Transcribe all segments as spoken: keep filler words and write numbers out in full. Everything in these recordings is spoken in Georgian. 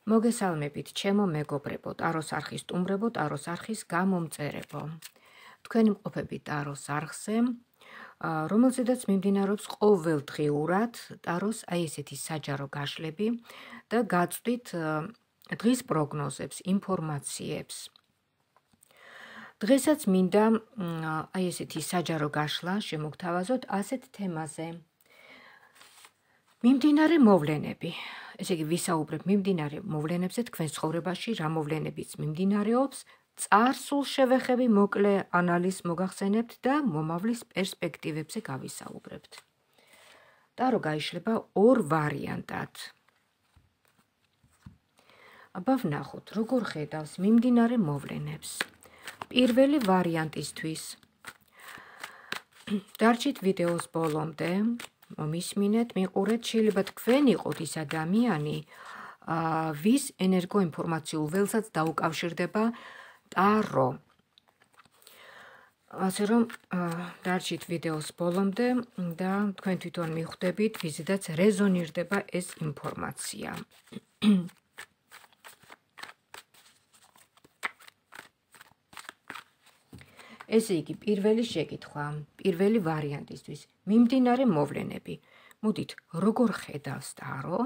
მოგესალმებით, ჩემო მეგობრებო, ტაროს არხის სტუმრებო, ტაროს არხის გამომწერებო. თქვენი მყოფები ტაროს არხზე, რომელზედაც მიმდინარეობს ყოველდღიურად ტაროს აი ესეთი საჯარო გაშლები და გაწვდით დღის პროგნოზებს, ინფორმაციებს. დღესაც მინდა აი ესეთი საჯარო გაშლა შემოგთავაზოთ ასეთ თემაზე. მიმდინარე მოვლენები. ესე იგი, ვისაუბრებ მიმდინარე მოვლენებზე თქვენს ცხოვრებაში, რა მოვლენებიც მიმდინარეობს, წარსულ შევეხები მოკლე ანალიზს მოგახსენებთ და მომავლის პერსპექტივებზე გავისაუბრებთ. ტარო გაიშლება ორ ვარიანტად. აბა ვნახოთ, როგორ ხედავს მიმდინარე მოვლენებს. პირველი ვარიანტისთვის დარჩით ვიდეოს ბოლომდე. მისმინეთ, მიყურეთ, შეიძლება თქვენ იყოთ ის ადამიანი, ვის ენერგოინფორმაციულ ველსაც დაუკავშირდება ტარო. ასე რომ დარჩით ვიდეოს ბოლომდე და თქვენ თვითონ მიხვდებით, ვიზედაც რეზონირდება ეს ინფორმაცია. ესე იგი, პირველი შეკითხვა, პირველი ვარიანტისთვის, მიმდინარე მოვლენები. მოდით, როგორ ხედავს ტარო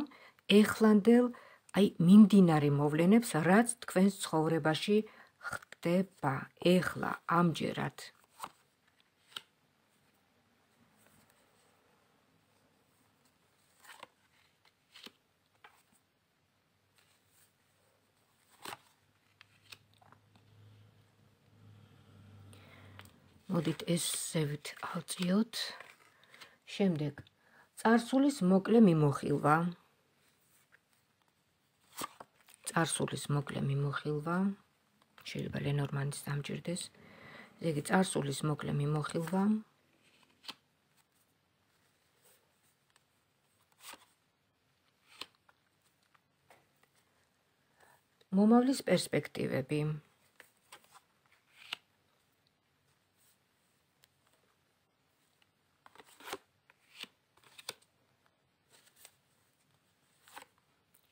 ეხლანდელ აი მიმდინარე მოვლენებს, რაც თქვენს ცხოვრებაში ხდება ეხლა, ამჯერად. მოდით ესევით ავწიოთ. შემდეგ, წარსულის მოკლე მიმოხილვა. წარსულის მოკლე მიმოხილვა. შეიძლება ლენორმანის დამჭირდეს. ესე იგი, წარსულის მოკლე მიმოხილვა. მომავლის პერსპექტივები.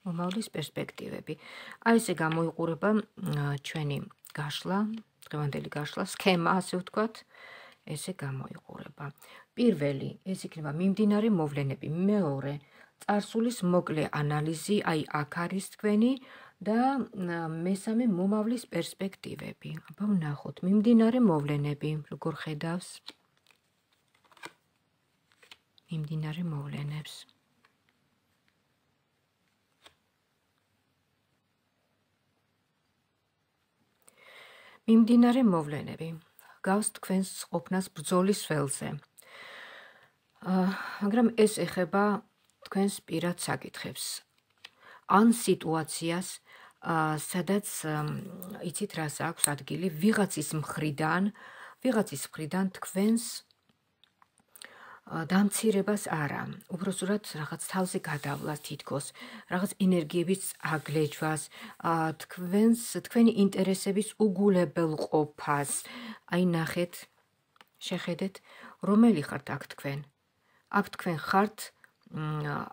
მომავლის პერსპექტივები. აი ესე გამოიყურება ჩვენი გაშლა, დღევანდელი გაშლა, სქემა, ასე ვთქვათ, ესე გამოიყურება. პირველი, ეს იქნება მიმდინარე მოვლენები. მეორე, წარსულის მოკლე ანალიზი, აი აქ არის თქვენი და მესამე, მომავლის პერსპექტივები. აბა ვნახოთ, მიმდინარე მოვლენები, როგორ ხედავს მიმდინარე მოვლენებს. მიმდინარე მოვლენები გავს თქვენს ყოფნას ბრძოლის ველზე. მაგრამ ეს ეხება თქვენს პირად საკითხებს. ან სიტუაციას, სადაც იცით რას აქვს ადგილი, ვიღაცის მხრიდან, ვიღაცის მხრიდან თქვენს დამცირებას არა, უბრალოდ რაღაც თავზე გადავლას თითქოს, რაღაც ენერგიების აგლეჯვას, თქვენს თქვენი ინტერესების უგულებელყოფას. აი ნახეთ, შეხედეთ, რომელი ხართ აქ თქვენ? აქ თქვენ ხართ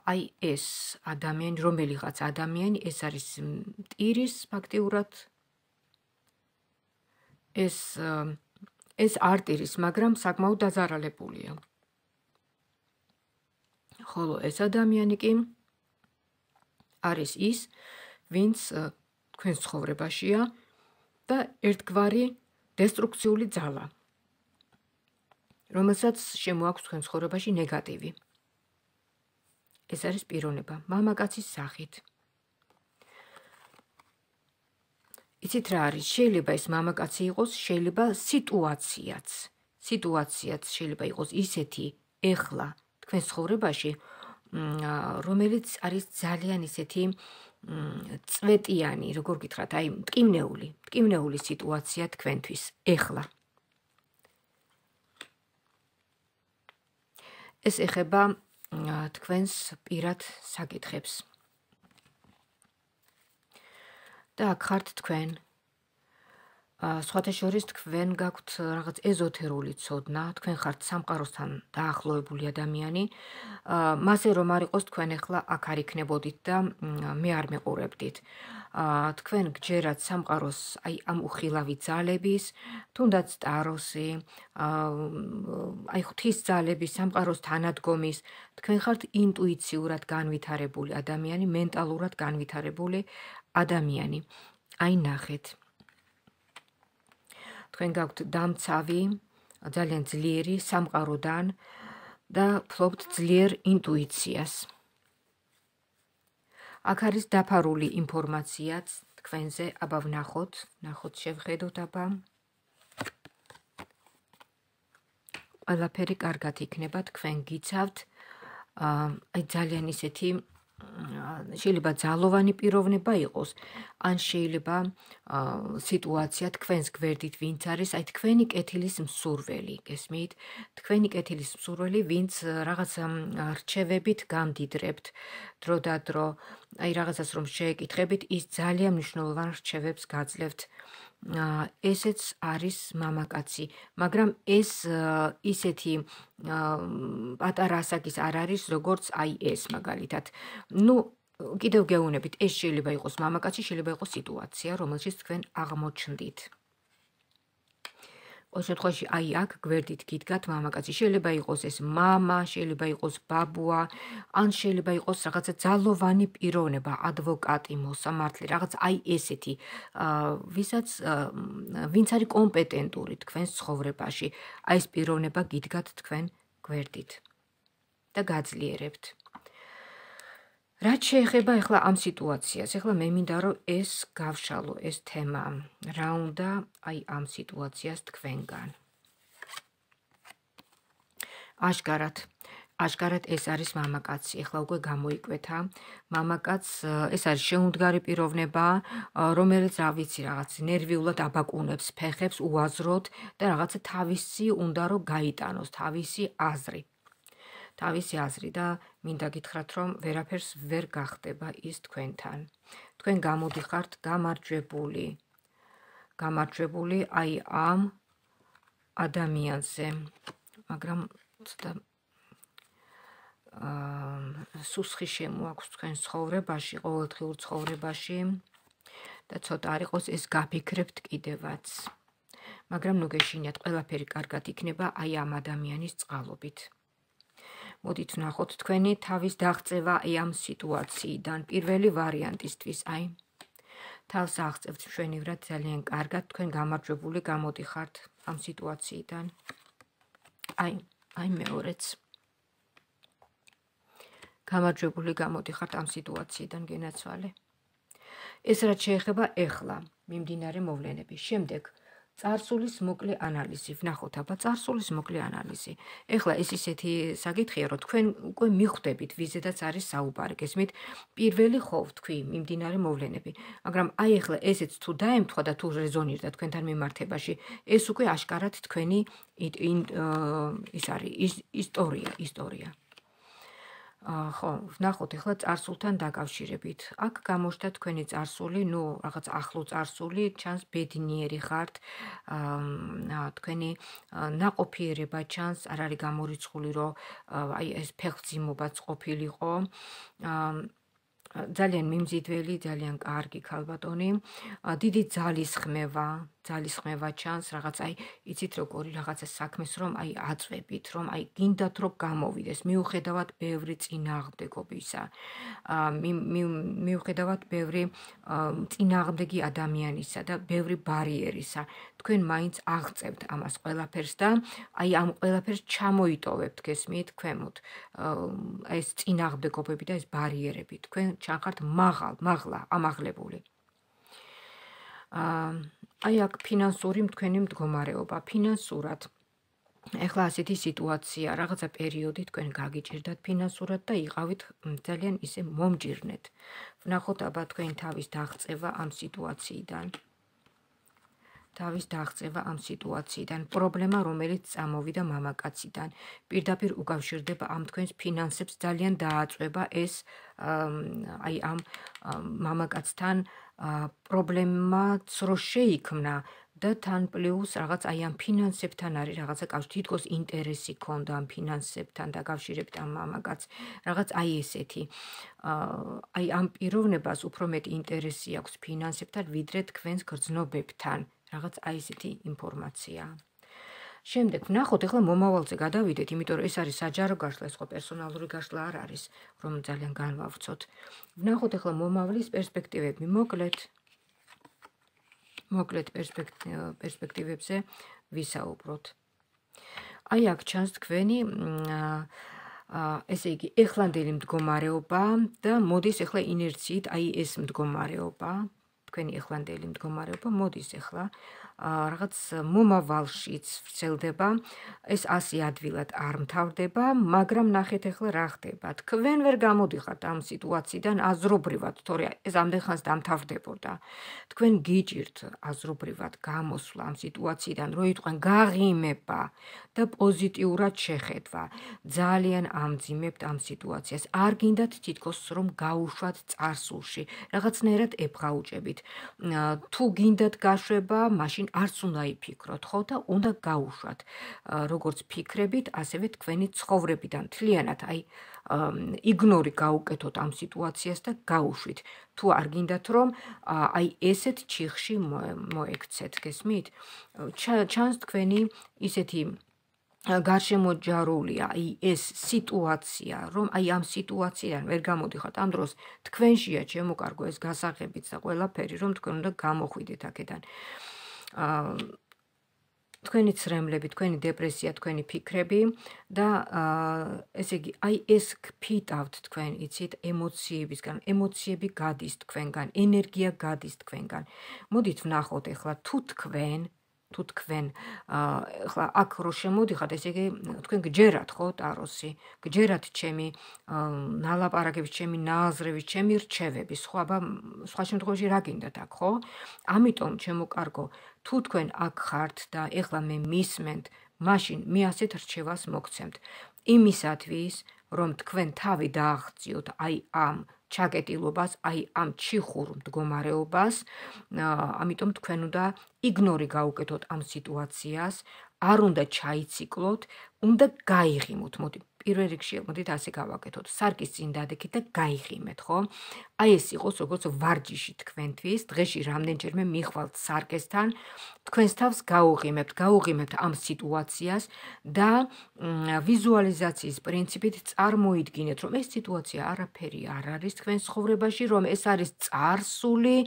აი ეს ადამიანი, რომელიღაც ადამიანი, ეს არის მტირის ფაქტიურად ეს ეს არტირის, მაგრამ საკმაოდ დაზარალებულია. ხოლო ეს ადამიანი კი არის ის, ვინც თქვენს ცხოვრებაშია და ერთგვარი დესტრუქციული ძალა, რომელსაც შემოაქვს თქვენ ცხოვრებაში ნეგატივი. ეს არის პიროვნება, მამაკაცის სახით. იცით რა არის? შეიძლება ეს მამაკაცი იყოს, შეიძლება სიტუაციაც. სიტუაციაც შეიძლება იყოს ისეთი ეხლა თქვენ ცხოვრებაში, რომელიც არის ძალიან ისეთი წვეტიანი, როგორ გითხრათ, აი მტკივნეული, მტკივნეული სიტუაცია თქვენთვის ეხლა. ეს ეხება თქვენს პირად საკითხებს. და აქ ხართ თქვენ. სხვათა შორის თქვენ გაქვთ რაღაც ეზოთერული ცოდნა, თქვენ ხართ სამყაროსთან დაახლოებული ადამიანი, მასე რომ არ იყოს თქვენ ახლა აქ არ იქნებოდით და მე არ მეყურებდით. თქვენ გჯერათ სამყაროს აი ამ უხილავი ძალების, თუნდაც ტაროსი, აი ღვთის ძალების, სამყაროს თანადგომის, თქვენ ხართ ინტუიციურად განვითარებული ადამიანი, მენტალურად განვითარებული ადამიანი. აი ნახეთ. თქვენ გაქვთ დამცავი, ძალიან ძლიერი სამყაროდან და ფლობთ ძლიერ ინტუიციას. აქ არის დაფარული ინფორმაციაც თქვენზე, აბა ვნახოთ, ნახოთ შევხედოთ აბა. ყველაფერი კარგად იქნება, თქვენ გიცავთ, აი ძალიან ისეთი შეიძლება ძალოვანი პიროვნება იყოს, ან შეიძლება სიტუაცია თქვენს გვერდით ვინც არის, აი თქვენი კეთილის მსურველი, გესმით? თქვენი კეთილის მსურველი, ვინც რაღაც რჩევებით გამდიდრებთ დრო და დრო, აი რაღაცას რომ შეეკითხებით, ის ძალიან მნიშვნელოვან რჩევებს გაძლევთ. ესეც არის მამაკაცი, მაგრამ ეს ისეთი პატარა ასაკის არ არის, როგორც აი ეს მაგალითად. ნუ კიდევ გეუბნებით, ეს შეიძლება იყოს მამაკაცი, შეიძლება იყოს სიტუაცია, რომელშიც თქვენ აღმოჩნდით. ყოველ შემთხვევაში აი აქ გვერდით გიდგათ მამაკაცი, შეიძლება იყოს ეს მამა, შეიძლება იყოს ბაბუა, ან შეიძლება იყოს რაღაცა ძალოვანი პიროვნება, ადვოკატი, მოსამართლე, რაღაც აი ესეთი, ვისაც ვინც არის კომპეტენტური თქვენს ცხოვრებაში, აი ეს პიროვნება გიდგათ თქვენ გვერდით და გაძლიერებთ. რაც შეეხება ახლა ამ სიტუაციას, ახლა მე მინდა რომ ეს გავშალო, ეს თემა, რა უნდა აი ამ სიტუაციას თქვენგან. აშკარად, აშკარად ეს არის მამაკაცი, ახლა უკვე გამოიკვეთა, მამაკაცს ეს არის შეუმდგარი პიროვნება, რომელიც რა ვიცი, რაღაც ნერვიულად აბაკუნებს ფეხებს უაზროდ და რაღაცა თავისი უნდა რომ გაიტანოს, თავისი აზრი. თავისი აზრი და მინდა გითხრათ, რომ ვერაფერს ვერ გახდება ის თქვენთან. თქვენ გამოდიხართ გამარჯვებული. გამარჯვებული აი ამ ადამიანზე. მაგრამ ცოტა სუსხი შემოაქვს თქვენ ცხოვრებაში, ყოველდღიურ ცხოვრებაში და ცოტა არ იყოს ეს გაფიქრებთ კიდევაც. მაგრამ ნუ გეშინიათ, ყველაფერი კარგად იქნება აი ამ ადამიანის წყალობით. მოდით ვნახოთ თქვენი თავის დაღწევა აი ამ სიტუაციიდან, პირველი ვარიანტისთვის, აი თავს აღწევთ მშვენივრად ძალიან კარგად, თქვენ გამარჯვებული გამოდიხართ ამ სიტუაციიდან. აი, აი მეორეც. გამარჯვებული გამოდიხართ ამ სიტუაციიდან, გენაცვალე. ეს რაც შეეხება ეხლა მიმდინარე მოვლენების. შემდეგ წარსულის მოკლე ანალიზი. ვნახოთ აბა წარსულის მოკლე ანალიზი. ეხლა ეს ისეთი საკითხია, რომ თქვენ უკვე მიხვდებით, ვიზედაც არის საუბარი, გესმით? პირველი ხო ვთქვი, მიმდინარე მოვლენები. მაგრამ აი ეხლა ესეც თუ დაემთხვა და თუ რეზონირდა თქვენთან მიმართებაში, ეს უკვე აშკარად თქვენი ის არის ისტორია, ისტორია. ხო, ვნახოთ ახლა წარსულთან დაკავშირებით. აქ გამოჩნდა თქვენი წარსული, ნუ რაღაც ახლო წარსული, ჩანს ბედნიერი ხართ, თქვენი ნაყოფიერება ჩანს, არ არის გამორიცხული, რომ აი ეს ფეხმძიმობაც ყოფილიყო. ძალიან მიმზიდველი, ძალიან კარგი ქალბატონი, დიდი ძალისხმევა, ძალისხმევა ჩანს, რაღაც აი იცით როგორი რაღაცა საქმეს რომ აი აწვევით, რომ აი გინდათ რომ გამოვიდეს, მიუხედავად ბევრი წინააღმდეგობისა, მიუხედავად ბევრი წინააღმდეგი ადამიანისა და ბევრი ბარიერისა, თქვენ მაინც აღწევთ ამას ყველაფერს და აი ამ ყველაფერს ჩამოიტოვებთ, გესმით, ქვემოთ, ეს წინააღმდეგობები და ეს ბარიერები, თქვენ ჩანხართ მაღალ, მაღლა, ამაღლებული. აი აქ ფინანსური თქვენი მდგომარეობა, ფინანსურად. ეხლა ასეთი სიტუაცია, რაღაცა პერიოდი თქვენ გაგიჭირდათ ფინანსურად და იყავით ძალიან ისე მომჭირნეთ. ვნახოთ აბა თქვენ თავის დაღწევა ამ სიტუაციიდან. თავის დაღწევა ამ სიტუაციიდან, პრობლემა რომელიც წამოვიდა მამაკაციდან, პირდაპირ უკავშირდება ამ თქვენს ფინანსებს, ძალიან დააწვება ეს აი ამ მამაკაცთან პრობლემაც რო შეიქმნა და თან პლუს რაღაც აი ამ ფინანსებთან არის რაღაცა კავშირი, თითქოს ინტერესი ქონდა ამ ფინანსებთან დაკავშირებით ამ მამაკაც, რაღაც აი ესეთი. აი ამ პიროვნებას უფრო მეტი ინტერესი აქვს ფინანსებთან, ვიდრე თქვენს გრძნობებთან. რაღაც აი ესეთი ინფორმაცია. შემდეგ ვნახოთ ახლა მომავალზე გადავიდეთ, იმიტომ რომ ეს არის საჯარო გაშლა, ეს ხო პერსონალური გაშლა არ არის, რომ ძალიან განვავრცოთ. ვნახოთ ახლა მომავლის პერსპექტივები, მოკლედ მოკლედ პერსპექტივებზე ვისაუბროთ. აი აქ ჩანს თქვენი ესე იგი ეხლანდელი მდგომარეობა და მოდის ახლა ინერციით აი ეს მდგომარეობა, თქვენი ეხლანდელი მდგომარეობა მოდის ახლა რაღაც მომავალშიც ვრცელდება, ეს ასე ადვილად არ მთავრდება, მაგრამ ნახეთ ახლა რა ხდება. თქვენ ვერ გამოდიხართ ამ სიტუაციიდან აზრობრივად, თორე ეს ამდენ ხანს დამთავრდებოდა. თქვენ გიჭირთ აზრობრივად გამოსვლა ამ სიტუაციიდან, რომ იტყვენ გაღიმება და პოზიტიურად შეხედვა. ძალიან ამძიმებთ ამ სიტუაციას. არ გინდათ თითქოს რომ გაუშვათ წარსულში, რაღაცნაირად ებღაუჭებით. თუ გინდათ გაშვება, მაშინ არც უნდა იფიქროთ, ხო და უნდა გაუშვათ. როგორც ფიქრებით, ასევე თქვენი ცხოვრებიდან მთლიანად აი იგნორი გაუკეთოთ ამ სიტუაციას და გაუშვით. თუ არ გინდათ რომ აი ესეთ ჩიხში მოექცეთ, გესმით? ჩანს თქვენი ისეთი გარშემოჯარულია აი ეს სიტუაცია, რომ აი ამ სიტუაციიდან ვერ გამოდიხართ, ამ დროს თქვენშია შემოკარგო ეს გასაღებიც და ყველაფერი, რომ თქვენ უნდა გამოხვიდეთ აქედან. თქვენი ცრემლები, თქვენი დეპრესია, თქვენი ფიქრები და ესე იგი აი ეს გფიტავთ თქვენ, იცით, ემოციებისგან, ემოციები გადის თქვენგან, ენერგია გადის თქვენგან. მოდით ვნახოთ ახლა თუ თქვენ თუ თქვენ ახლა აქ რო შემოდიხართ, ესე იგი თქვენ გჯერათ ხო ტაროსი, გჯერათ ჩემი ნალაპარაკების, ჩემი ნააზრების, ჩემი რჩევები, სხვა სხვა შემთხვევაში რა გინდათ აქ, ხო? ამიტომ ჩემო კარგო, თუ თქვენ აქ ხართ და ეხლა მე მისმენთ, მაშინ მე ასეთ რჩევას მოგცემთ. იმისათვის, რომ თქვენ თავი დააღწიოთ აი ამ ჩაკეტილობას, აი ამ ჩიხურ მდგომარეობას, ამიტომ თქვენ უნდა იგნორი გაუკეთოთ ამ სიტუაციას, არ უნდა ჩაიციკლოთ, უნდა გაიღიმოთ. მოდი პირველ რიგში მოდით ასე გავაკეთოთ. სარკის წინ დადექით და გაიღიმეთ, ხო? აი ეს იყოს როგორც ვარჯიში თქვენთვის, დღეში რამდენჯერმე მიხვალთ სარკესთან, თქვენს თავს გაუღიმებთ, გაუღიმებთ ამ სიტუაციას და ვიზუალიზაციის პრინციპით წარმოიდგინეთ, რომ ეს სიტუაცია არაფერი არ არის თქვენ ცხოვრებაში, რომ ეს არის წარსული,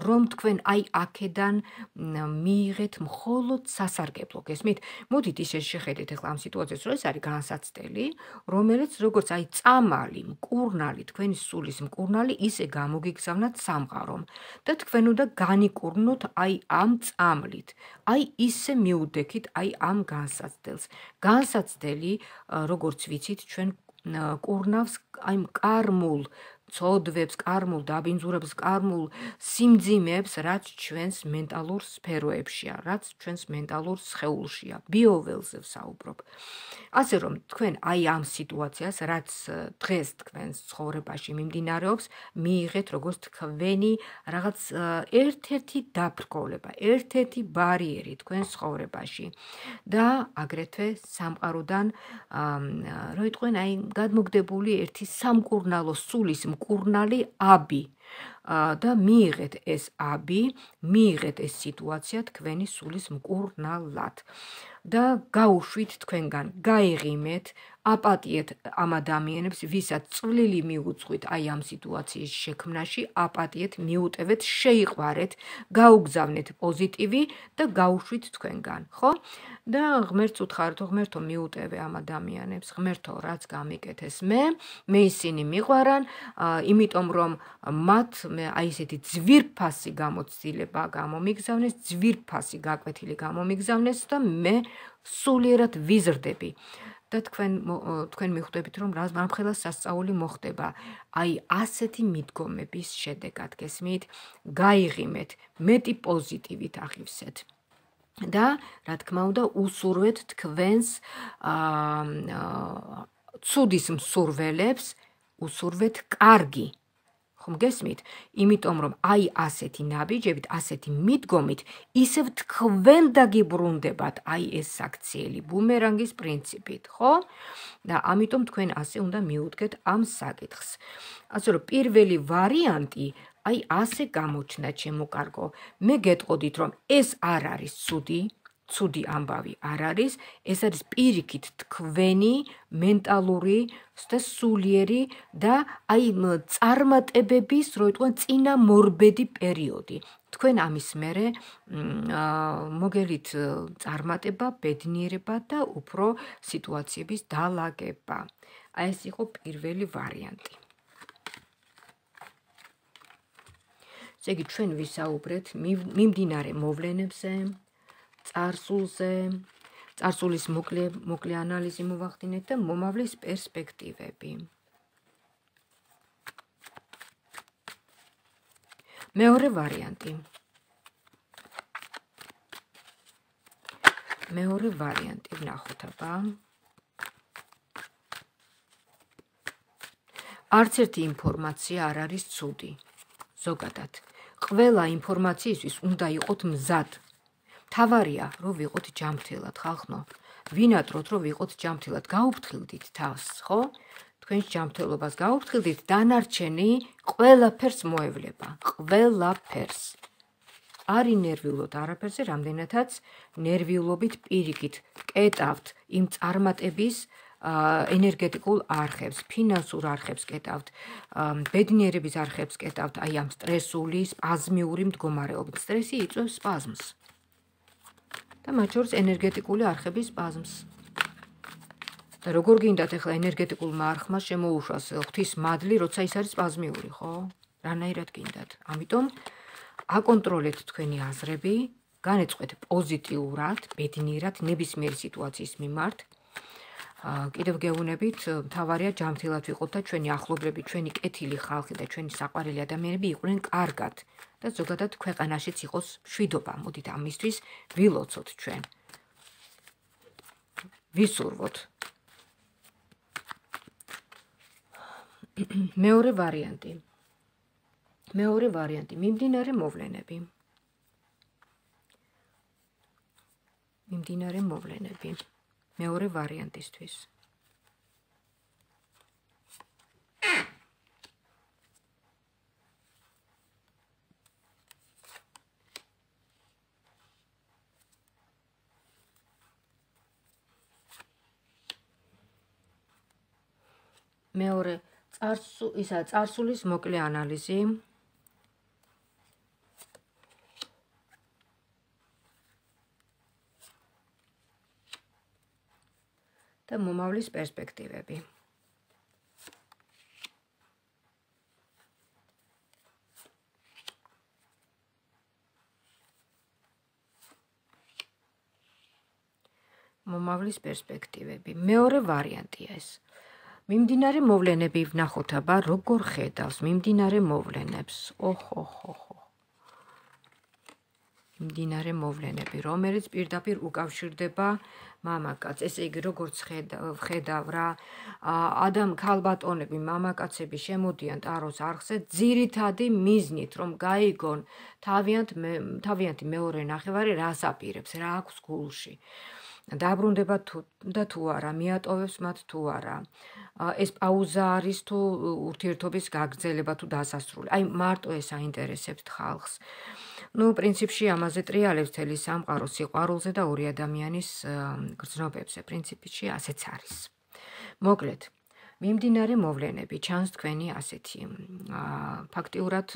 რომ თქვენ აი აქედან მიიღეთ მხოლოდ სასარგებლო, გესმით? მოდით ისე შეხედეთ ახლა ამ სიტუაციას, რომ ეს არის განსაცდელი, რომელიც როგორც აი წამალი, მკურნალი, თქვენი სულის მკურნალი ისე გამოგიგზავნათ სამყარომ და თქვენ უნდა განიკურნოთ აი ამ წამლით. აი ისე მიუდექით აი ამ განსაცდელს. განსაცდელი, როგორც ვიცით, ჩვენ კურნავს აი კარმულ ცოდვებს, კარმულ დაბინძურებს, კარმულ სიმძიმეებს, რაც ჩვენს მენტალურ სფეროებშია, რაც ჩვენს მენტალურ სხეულშია, ბიოველზე ვსაუბრობ. ასე რომ თქვენ აი ამ სიტუაციას, რაც დღეს თქვენს ცხოვრებაში მიმდინარეობს, მიიღეთ როგორც თქვენი რაღაც ერთ-ერთი დაბრკოლება, ერთ-ერთი ბარიერი თქვენს ცხოვრებაში და აგრეთვე სამყაროდან რო იტყვენ აი გადმოგდებული ერთი სამკურნალო სულის მკურნალი აბი და მიიღეთ ეს აბი, მიიღეთ ეს სიტუაცია თქვენი სულის მკურნალად და გაუშვით თქვენგან, გაიღიმეთ, აპატიეთ ამ ადამიანებს, ვისაც წვლილი მიუძღვით აი ამ სიტუაციის შექმნაში, აპატიეთ, მიუტევეთ, შეიყვარეთ, გაუგზავნეთ პოზიტივი და გაუშვით თქვენგან, ხო? და ღმერთს უთხარით, ღმერთო მიუტევე ამ ადამიანებს, ღმერთო რაც გამიკეთეს მე, მე ისინი მიყვარან, იმიტომ რომ მათ აი ესეთი ძვირფასი გამოცდილება გამომიგზავნეს, ძვირფასი გაკვეთილი გამომიგზავნეს და მე სულიერად ვიზრდები. და თქვენ თქვენ მიხვდებით რომ რამხელა სასწაული მოხდება აი ასეთი მიდგომების შედეგად, გესმით? გაიღიმეთ, მეტი პოზიტივით აღივსეთ. და რა თქმა უნდა უსურვეთ თქვენს ცუდის მსურველებს, უსურვეთ კარგი. ხომ გესმით? იმიტომ რომ აი ასეთი ნაბიჯებით, ასეთი მიდგომით ისევ თქვენ დაგიბრუნდებათ აი ეს საქციელი ბუმერანგის პრინციპით, ხო? და ამიტომ თქვენ ასე უნდა მიუდგეთ ამ საკითხს. ასე რომ პირველი ვარიანტი აი ასე გამოჩნდა ჩემო კარგო. მე გეტყოდით რომ ეს არ არის ცუდი, ცუდი ამბავი არ არის, ეს არის პირიქით თქვენი მენტალური და სულიერი და აი წარმატებების, რო იტყვიან, წინამორბედი პერიოდი. თქვენ ამის მერე მოგელით წარმატება, ბედნიერება და უფრო სიტუაციების დალაგება. აი ეს იყო პირველი ვარიანტი. ესე იგი ჩვენ ვისაუბრეთ მიმდინარე მოვლენებზე, წარსულზე, წარსულის მოკლე მოკლე ანალიზი მოვახდინეთ და მომავლის პერსპექტივები. მეორე ვარიანტი. მეორე ვარიანტი ვნახოთ აბა. არც ერთი ინფორმაცია არ არის ცუდი. ზოგადად, ყველა ინფორმაციისთვის უნდა იყოთ მზად. თავარია, რომ ვიყოთ ჯანმრთელად, ხალხო. ვინატროთ, რომ ვიყოთ ჯანმრთელად, გაუფრთხილდით თავს, ხო? თქვენს ჯანმრთელობას გაუფრთხილდით, დანარჩენი ყველაფერს მოევლება, ყველაფერს. არ ინერვიულოთ არაფერზე, რამდენადაც ნერვიულობით პირიქით კეტავთ იმ წარმატების ენერგეტიკულ არხებს, ფინანსურ არხებს კეტავთ, ბედნიერების არხებს კეტავთ, აი ამ სტრესული, სპაზმიური მდგომარეობით. სტრესი იწვევს სპაზმს. და მათ შორის ენერგეტიკული არხების სპაზმს. და როგორ გინდათ ახლა ენერგეტიკულმა არხმა შემოუშვას ღვთის მადლი, როცა ის არის სპაზმიური, ხო? რანაირად გინდათ? ამიტომ აკონტროლეთ თქვენი აზრები, განეწყვეთ პოზიტიურად, ბედნიერად ნებისმიერი სიტუაციის მიმართ. კიდევ გეუბნებით, მთავარია ჯანმრთელად ვიყოთ და ჩვენი ახლობლები, ჩვენი კეთილი ხალხი და ჩვენი საყვარელი ადამიანები იყვნენ კარგად და ზოგადად ქვეყანაშიც იყოს მშვიდობა. მოდით ამისთვის ვილოცოთ ჩვენ. ვისურვოთ. მეორე ვარიანტი. მეორე ვარიანტი, მიმდინარე მოვლენები. მიმდინარე მოვლენები. მეორე ვარიანტისთვის. მეორე წარსუ ისა წარსულის მოკლე ანალიზი. და მომავლის პერსპექტივები. მომავლის პერსპექტივები. მეორე ვარიანტია ეს. მიმდინარე მოვლენები ვნახოთ აბა როგორ ხედავს მიმდინარე მოვლენებს. ოხ ოხ ოხ. მიმდინარე მოვლენები, რომელიც პირდაპირ უკავშირდება მამაკაცს. ესე იგი, როგორც ხედავ რა, ადამ ქალბატონები, მამაკაცები შემოდიან ტაროს არხზე ძირითადი მიზნით, რომ გაიგონ თავიანთი მეორე ნახევარი რას აპირებს, რა აქვს გულში. დაბრუნდება და თუ არა, მიატოვებს მათ თუ არა. ეს პაუზა არის თუ ურთიერთობის გაგრძელება თუ დასასრული. აი მარტო ეს აინტერესებთ ხალხს. ნუ პრინციპში ამაზე ტრიალებს მთელი სამყარო სიყვარულზე და ორი ადამიანის გრძნობებზე. პრინციპში ასეც არის. მოკლედ, მიმდინარე მოვლენები ჩანს თქვენი ასეთი. ფაქტიურად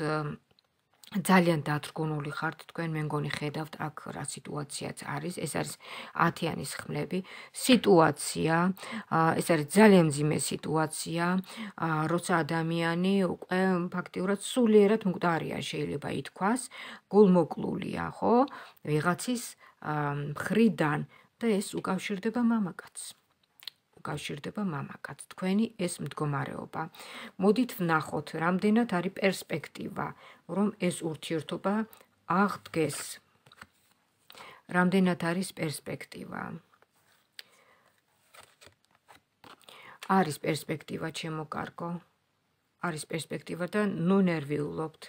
ძალიან დათრგუნული ხართ თქვენ, მე მგონი ხედავთ აქ რა სიტუაციაც არის. ეს არის ათიანის ხმლები. სიტუაცია, ეს არის ძალიან მძიმე სიტუაცია, როცა ადამიანი უკვე ფაქტიურად სულიერად მკვდარია, შეიძლება ითქვას, გულმოკლულია, ხო? ვიღაცის მხრიდან და ეს უკავშირდება მამაკაცს. უკავშირდება მამაკაცს. თქვენი ეს მდგომარეობა. მოდით ვნახოთ, რამდენად არის პერსპექტივა, რომ ეს ურთიერთობა აღდგეს. რამდენად არის პერსპექტივა. არის პერსპექტივა, ჩემო კარგო. არის პერსპექტივა და ნუ ნერვიულობთ.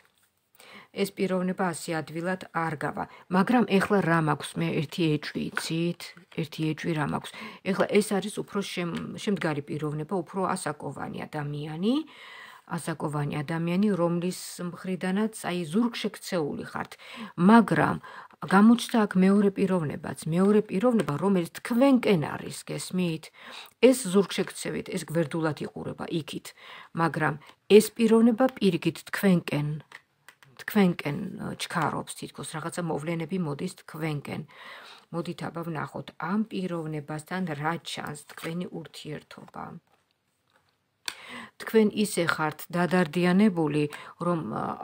ეს პიროვნება ასე ადვილად არ გავა, მაგრამ ეხლა რა მაქვს მე ერთი ეჭვი იცით, ერთი ეჭვი რა მაქვს. ეხლა ეს არის უფრო შემდგარი პიროვნება, უფრო ასაკოვანი ადამიანი, ასაკოვანი ადამიანი, რომლის მხრიდანაც აი ზურგშექცეული ხართ, მაგრამ გამოჩნდა აქ მეორე პიროვნებაც, მეორე პიროვნება, რომელიც თქვენკენ არის, გესმით? ეს ზურგშექცევით, ეს გვერდულად იყურება იქით, მაგრამ ეს პიროვნება პირიქით თქვენკენ თქვენკენ ჩქარობს თითქოს რაღაცა მოვლენები მოდის თქვენკენ. მოდით აბა ვნახოთ ამ პიროვნებასთან რა ჩანს თქვენი ურთიერთობა. თქვენ ისე ხართ დადარდიანებული, რომ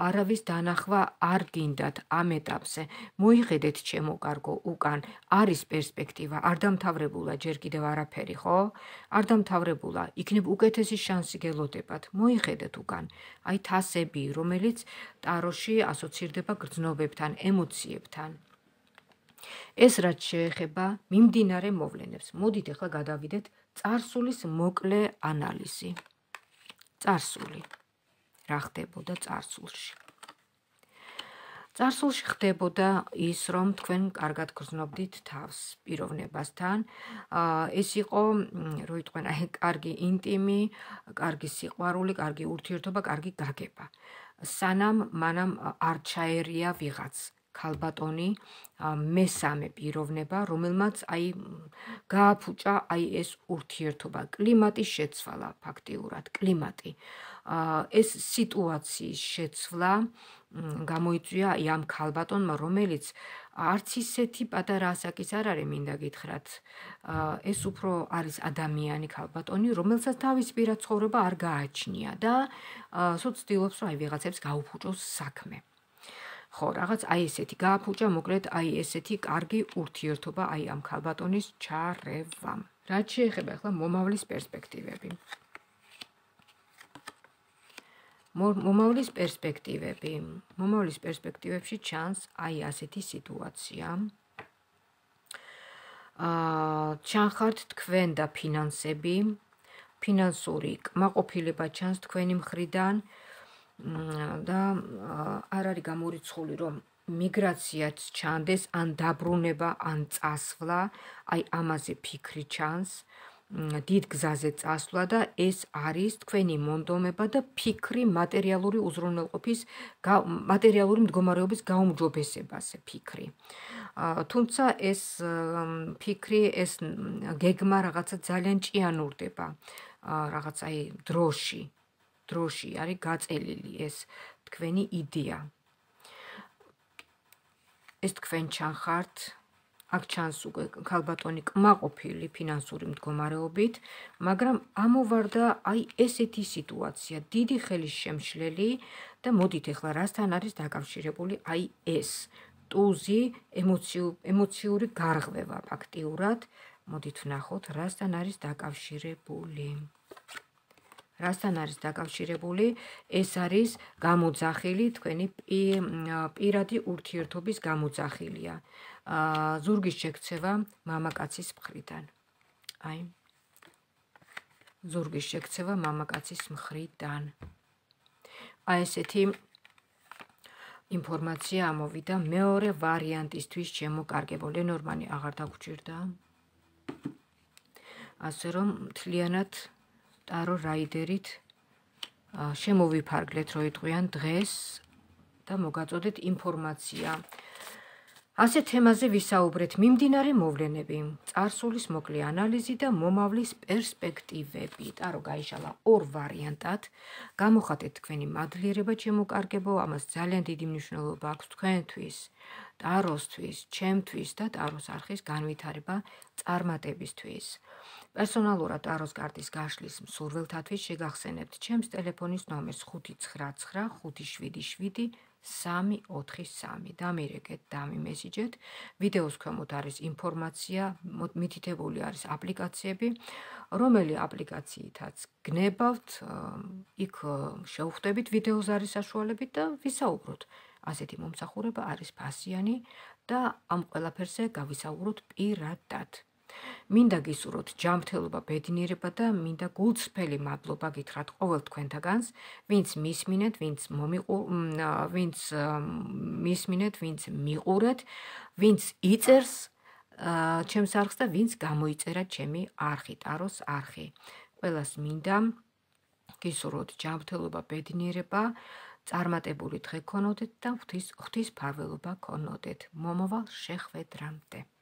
არავის დანახვა არ გინდათ ამ ეტაპზე. მოიხედეთ ჩემო კარგო, უკან არის პერსპექტივა, არ დამთავრებულა ჯერ კიდევ არაფერი, ხო? არ დამთავრებულა, იქნებ უკეთესი შანსი გელოდებათ. მოიხედეთ უკან. აი თასები, რომელიც ტაროში ასოცირდება გრძნობებთან, ემოციებთან. ეს რაც შეეხება მიმდინარე მოვლენებს. მოდით ახლა გადავიდეთ წარსულის მოკლე ანალიზი. წარსული. რა ხდებოდა წარსულში? წარსულში ხდებოდა ის, რომ თქვენ კარგად გრძნობდით თავს პიროვნებასთან. ეს იყო, რო იტყვენ, აი, კარგი ინტიმი, კარგი სიყვარული, კარგი ურთიერთობა, კარგი გაგება. სანამ მანამ არ ჩაერია ვიღაც ქალბატონი, მესამე პიროვნება, რომელმაც აი გააფუჭა აი ეს ურთიერთობა, კლიმატის შეცვალა ფაქტიურად, კლიმატი. ეს სიტუაციის შეცვლა გამოიწვია აი ამ ქალბატონმა, რომელიც არც ისეთი პატარა ასაკის არ არის, მინდა გითხრათ. ეს უფრო არის ადამიანი ქალბატონი, რომელსაც თავის პირად ცხოვრება არ გააჩნია და სულ ცდილობს, რომ აი ვიღაცებს გაუფუჭოს საქმე. ხო, რაღაც აი ესეთი გააფუჭა, მოკლედ აი ესეთი კარგი ურთიერთობა აი ამ ქალბატონის ჩარევამ. რაც შეეხება ახლა მომავლის პერსპექტივები. მომავლის პერსპექტივები. მომავლის პერსპექტივებში ჩანს აი ასეთი სიტუაცია. აა ჩანხართ თქვენ და ფინანსები, ფინანსური კმაყოფილება ჩანს თქვენი მხრიდან. და არ არის გამორიცხული, რომ მიგრაციაც ჩანდეს, ან დაბრუნება, ან წასვლა, აი ამაზე ფიქრი ჩანს, დიდ გზაზე წასვლა და ეს არის თქვენი მონდომება და ფიქრი მატერიალური უზრუნველყოფის, მატერიალური მდგომარეობის გაუმჯობესებაზე ფიქრი. თუმცა ეს ფიქრი, ეს გეგმა რაღაცა ძალიან ჭიანურდება, რაღაც აი დროში. დროში არის გაწელილი ეს თქვენი იდეა. ეს თქვენ ჩანხართ, აქ ჩანს უკვე ქალბატონი კმაყოფილი ფინანსური მდგომარეობით, მაგრამ ამოვარდა აი ესეთი სიტუაცია, დიდი ხელის შემშლელი და მოდით ახლა რასთან არის დაკავშირებული აი ეს ტუზი, ემოციური გარღვევა ფაქტიურად. მოდით ვნახოთ, რასთან არის დაკავშირებული. რასთან არის დაკავშირებული, ეს არის გამოძახილი, თქვენი პირადი ურთიერთობის გამოძახილია. ზურგის შექცევა მამაკაცის მხრიდან. აი, ზურგის შექცევა მამაკაცის მხრიდან. აი ესეთი ინფორმაცია ამოვიდა მეორე ვარიანტისთვის შემოკარგებო. ლენორმანი აღარ დაგვრჩირდა. ასე რომ მთლიანად ტარო რაიდერით შემოვიფარგლეთ, რო იტყვიან დღეს და მოგაწოდეთ ინფორმაცია. ასე თემაზე ვისაუბრეთ მიმდინარე მოვლენები, წარსულის მოკლე ანალიზი და მომავლის პერსპექტივები. ტარო გაიშალა ორ ვარიანტად. გამოხატეთ თქვენი მადლიერება შემოკარგებო, ამას ძალიან დიდი მნიშვნელობა აქვს თქვენთვის, ტაროსთვის, ჩემთვის და ტაროს არხის განვითარება წარმატებისთვის. პერსონალურად ტაროს კარტის გაშლის მსურველთათვის შეგახსენებთ ჩემს ტელეფონის ნომერს ხუთი ცხრა ცხრა ხუთი შვიდი შვიდი სამი ოთხი სამი. დამირეკეთ, დამიმესიჯეთ. ვიდეოს ქვემოთ არის ინფორმაცია, მითითებული არის აპლიკაციები, რომელი აპლიკაციითაც გნებავთ, იქ შევხვდებით ვიდეოს არის საშუალებით და ვისაუბროთ. ასეთი მომსახურება არის ფასიანი და ამ ყველაფერზე გავისაუბროთ პირადად. მინდა გისურვოთ ჯანმრთელობა, ბედნიერება და მინდა გულწრფელი მადლობა გითხრათ ყოველ თქვენთაგანს, ვინც მისმინეთ, ვინც მომიყუ, ვინც მისმინეთ, ვინც მიყურეთ, ვინც იწერს ჩემს არხს და ვინც გამოიწერა ჩემი არხი, ტაროს არხი. ყველას მინდა გისურვოთ ჯანმრთელობა, ბედნიერება, წარმატებული დღე გქონოდეთ და ღვთის ღვთის ფარველობა გქონოდეთ. მომავალ შეხვედრამდე.